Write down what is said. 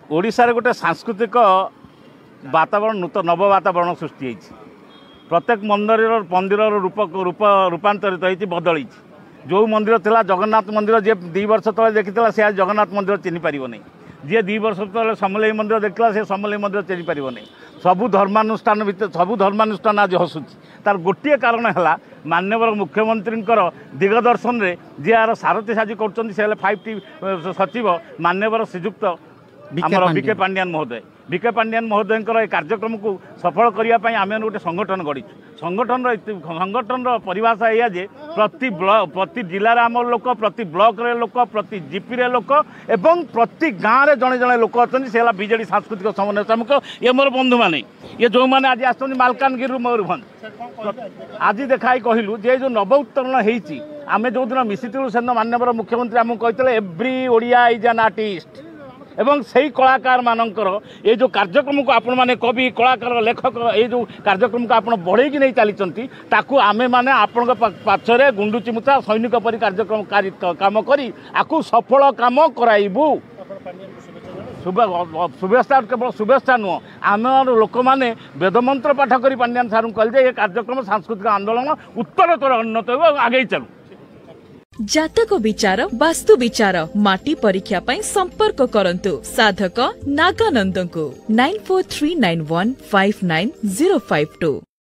ଓଡ଼ିଶାରେ ଗୋଟେ ସାଂସ୍କୃତିକ ବାତାବରଣ, ନୂତନ ନବ ବାତାବରଣ ସୃଷ୍ଟି ହେଇଛି। ପ୍ରତ୍ୟେକ ମନ୍ଦିରର ରୂପ ରୂପାନ୍ତରିତ ହେଇଛି, ବଦଳିଛି। ଯେଉଁ ମନ୍ଦିର ଥିଲା ଜଗନ୍ନାଥ ମନ୍ଦିର, ଯିଏ 2 ବର୍ଷ ତଳେ ଦେଖିଥିଲା ସେ ଆଜି ଜଗନ୍ନାଥ ମନ୍ଦିର ଚିହ୍ନି ପାରିବ ନାହିଁ। ଯିଏ 2 ବର୍ଷ ତଳେ ସମଲେଇ ମନ୍ଦିର ଦେଖିଥିଲା, ସେ ସମଲେଇ ମନ୍ଦିର ଚିହ୍ନି ପାରିବ ନାହିଁ। ସବୁ ଧର୍ମାନୁଷ୍ଠାନ ଭିତରେ ସବୁ ଧର୍ମାନୁଷ୍ଠାନ ଆଜି ହସୁଛି। ତାର ଗୋଟିଏ କାରଣ ହେଲା ମାନ୍ୟବର ମୁଖ୍ୟମନ୍ତ୍ରୀଙ୍କର ଦିଗଦର୍ଶନରେ ଯିଏ ଆର ସାରଥୀ ସାଜି କରୁଛନ୍ତି, ସେ ହେଲେ 5ଟି ସଚିବ ମାନ୍ୟବର ଶ୍ରୀଯୁକ୍ତ ଆମର ବିକେ ପାଣ୍ଡିଆନ ମହୋଦୟ। ବିକେ ପାଣ୍ଡିଆନ ମହୋଦୟଙ୍କର ଏ କାର୍ଯ୍ୟକ୍ରମକୁ ସଫଳ କରିବା ପାଇଁ ଆମେ ଗୋଟେ ସଂଗଠନ ଗଢ଼ିଛୁ। ସଂଗଠନର ପରିଭାଷା ଏଇଆ ଯେ ପ୍ରତି ବ୍ଲକ, ପ୍ରତି ଜିଲ୍ଲାରେ ଆମର ଲୋକ, ପ୍ରତି ବ୍ଲକରେ ଲୋକ, ପ୍ରତି ଜିପିରେ ଲୋକ ଏବଂ ପ୍ରତି ଗାଁରେ ଜଣେ ଜଣେ ଲୋକ ଅଛନ୍ତି। ସେ ହେଲା ବିଜେଡ଼ି ସାଂସ୍କୃତିକ ସମନ୍ୱୟ ସମ୍ମୁଖ। ଇଏ ମୋର ବନ୍ଧୁମାନେ, ଇଏ ଯେଉଁମାନେ ଆଜି ଆସିଛନ୍ତି ମାଲକାନଗିରିରୁ, ମୟୂରଭଞ୍ଜ। ଆଜି ଦେଖାଇ କହିଲୁ ଯେ ଯେଉଁ ନବ ଉତ୍ତରଣ ହେଇଛି, ଆମେ ଯେଉଁଦିନ ମିଶିଥିଲୁ ସେଦିନ ମାନ୍ୟବର ମୁଖ୍ୟମନ୍ତ୍ରୀ ଆମକୁ କହିଥିଲେ, "Every Odia is an artist." ଏବଂ ସେଇ କଳାକାରମାନଙ୍କର ଏ ଯେଉଁ କାର୍ଯ୍ୟକ୍ରମକୁ ଆପଣମାନେ କବି, କଳାକାର, ଲେଖକ, ଏଇ ଯେଉଁ କାର୍ଯ୍ୟକ୍ରମକୁ ଆପଣ ବଢ଼େଇକି ନେଇ ଚାଲିଛନ୍ତି, ତାକୁ ଆମେମାନେ ଆପଣଙ୍କ ପଛରେ ଗୁଣ୍ଡୁଚି ମୂଷା ସୈନିକ ପରି କାର୍ଯ୍ୟକ୍ରମ କାମ କରି ଆକୁ ସଫଳ କାମ କରାଇବୁ। ଶୁଭେଚ୍ଛା, କେବଳ ଶୁଭେଚ୍ଛା ନୁହଁ, ଆମର ଲୋକମାନେ ବେଦମନ୍ତ୍ର ପାଠ କରି ପାଣ୍ଡିଆନ ସାର୍ଙ୍କୁ କହିଲେ ଯେ ଏ କାର୍ଯ୍ୟକ୍ରମ ସାଂସ୍କୃତିକ ଆନ୍ଦୋଳନ ଉତ୍ତରୋତ୍ତର ଉନ୍ନତ ହେବ, ଆଗେଇ ଚାଲୁ। ଜାତକ ବିଚାର, ବାସ୍ତୁ ବିଚାର, ମାଟି ପରୀକ୍ଷା ପାଇଁ ସମ୍ପର୍କ କରନ୍ତୁ ସାଧକ ନାଗାନନ୍ଦଙ୍କୁ 9439159052।